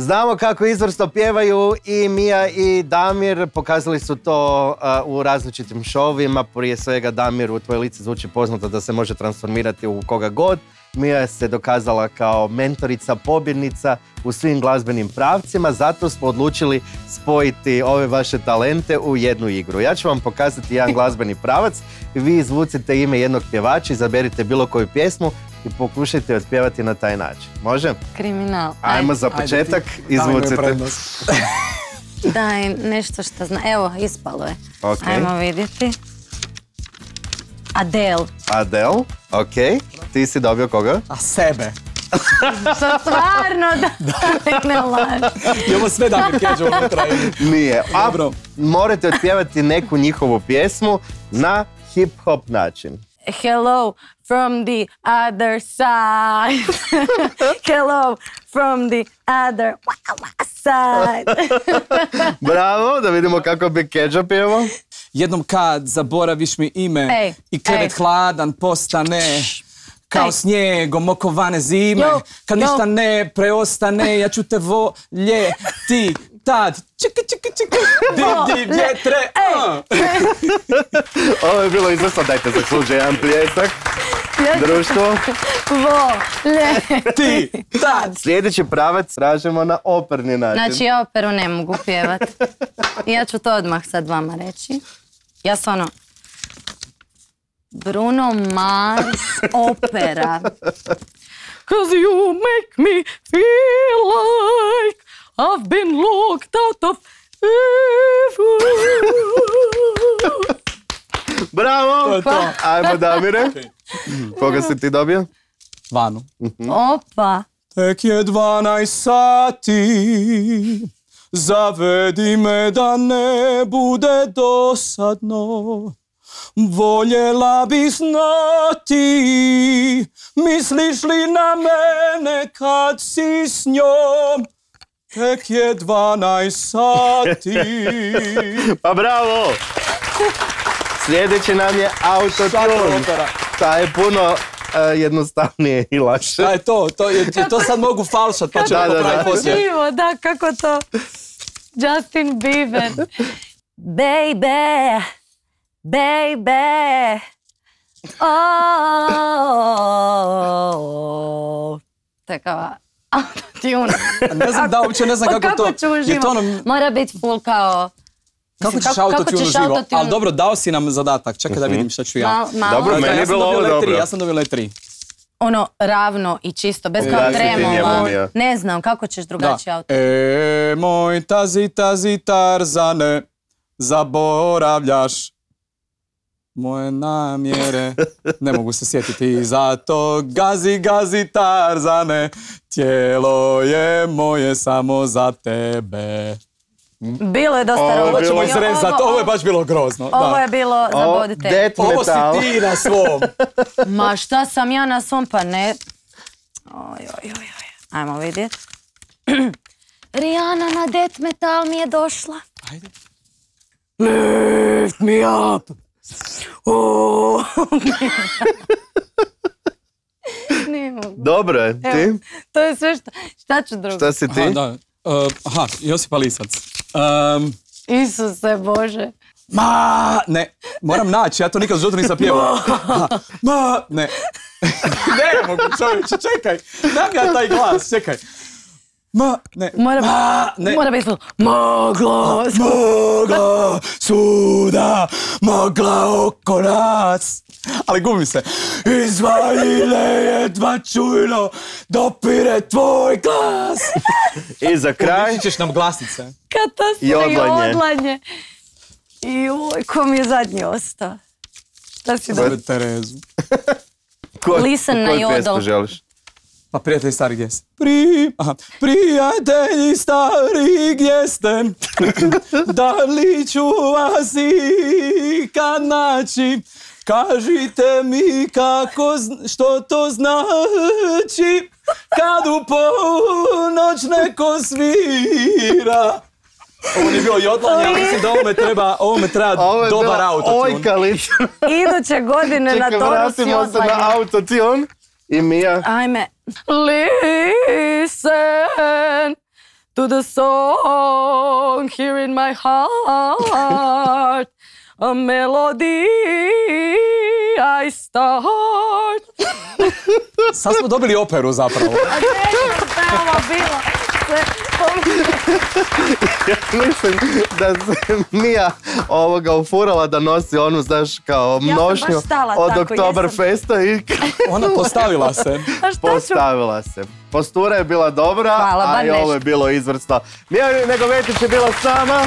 Znamo kako izvrsno pjevaju i Mija i Damir, pokazali su to u različitim šovima, prije svega Damir u Tvoje lice zvuči poznato da se može transformirati u koga god. Mija se dokazala kao mentorica, pobjednica u svim glazbenim pravcima, zato smo odlučili spojiti ove vaše talente u jednu igru. Ja ću vam pokazati jedan glazbeni pravac, vi izvucite ime jednog pjevača, izaberite bilo koju pjesmu i pokušajte otpjevati na taj način. Može? Kriminal. Ajmo za početak, izvucite. Daj nešto što zna. Evo, ispalo je. Okay. Ajmo vidjeti. Adele. Adele, ok. Ti si dobio koga? A sebe. Što stvarno da ne laži. I ovo sve Damir Keđa unutra. Nije. A morate otpjevati neku njihovu pjesmu na hip-hop način. Hello from the other side. Hello from the other side. Bravo, da vidimo kako bi Keđa pjevao. Jednom kad zaboraviš mi ime i krevet hladan postane kao snijegom okovane zime, kad ništa ne preostane, ja ću te voljeti tad. Čiki, čiki, čiki, div, vjetre. Ovo je bilo izvrsno, dajte zasluži jedan pljesak. Društvo. Voljeti tad. Sljedeći pravac tražimo na operni način. Znači, ja operu ne mogu pjevat. Ja ću to odmah sad vama reći. Ja sam ono... Bruno Mars opera. 'Cause you make me feel like I've been locked out of heaven. Bravo! Ajmo Damire. Koga si ti dobio? Vanu. Opa. Tek je 12 sati, zavedi me da ne bude dosadno. Voljela bi znati, misliš li na mene kad si s njom? Tek je 12 sati. Pa bravo! Sljedeći nam je autotune. Ta je puno jednostavnije i lakše. Šta je to? To sad mogu falšat pa ćemo popraviti poslije. Živo, da, kako to? Justin Bieber. Baby. Baby, oh, takava autotune. Ne znam da, uopće ne znam kako to... Kako ću uživo? Mora biti full kao... Kako ćeš autotune uživo? Ali dobro, dao si nam zadatak, čekaj da vidim šta ću ja. Dobro, meni je bilo ovo dobro. Ja sam dobio le3. Ono, ravno i čisto, bez kao tremova. Ne znam, kako ćeš drugačije autotune? Moj tazi Tarzane, zaboravljaš moje namjere, ne mogu se sjetiti, zato gazi Tarzane, tijelo je moje samo za tebe. Bilo je dosta robo. Ovo ćemo izrezati, ovo je baš bilo grozno. Ovo je bilo za bodite. Ovo si ti na svom. Ma šta sam ja na svom, pa ne. Ajmo vidjeti. Rihanna na death metal mi je došla. Ajde. Lift me up. Ne mogu. Dobro je, ti? To je sve šta ću drugo. Šta si ti? Aha, Josipa Lisac. Isuse Bože. Ne, moram naći, ja to nikad u životu nisam pjevao. Ne. Ne mogu, čovječe, čekaj. Dam ja taj glas, čekaj. Ne. Mora biti mogla suda, mogla oko nas. Ali gumi se. Izvajile jedva čujno, dopire tvoj glas. I za kraj... Uličit ćeš nam glasnice. Katastrofa i odlanje. I ko mi je zadnji ostao? Šta si dobro? Terezu. Listen na jodel. Koju pjesmu želiš? Pa prijatelji stari gdje ste? Prijatelji stari gdje ste? Da li ću vas ikad naći? Kažite mi kako, što to znači kad u ponoć neko svira. Ovo nije bilo jodlanje, ali mislim da ovome treba dobar autotune. Ovo je bila ojkalica. Iduće godine na Toru s jodlanje. Vratimo se na autotune. I Mija. Ajme. Listen, to the song here in my heart. A melody I start. Sad smo dobili operu zapravo. A ne, ovo bilo. Mislim da se Mija ufurala da nosi onu, znaš, kao mnošnju od Oktoberfesta i... Ona postavila se. Postavila se. Postura je bila dobra, Hvala, a i ovo je bilo izvrsno. Mija Negovetić je bila sama.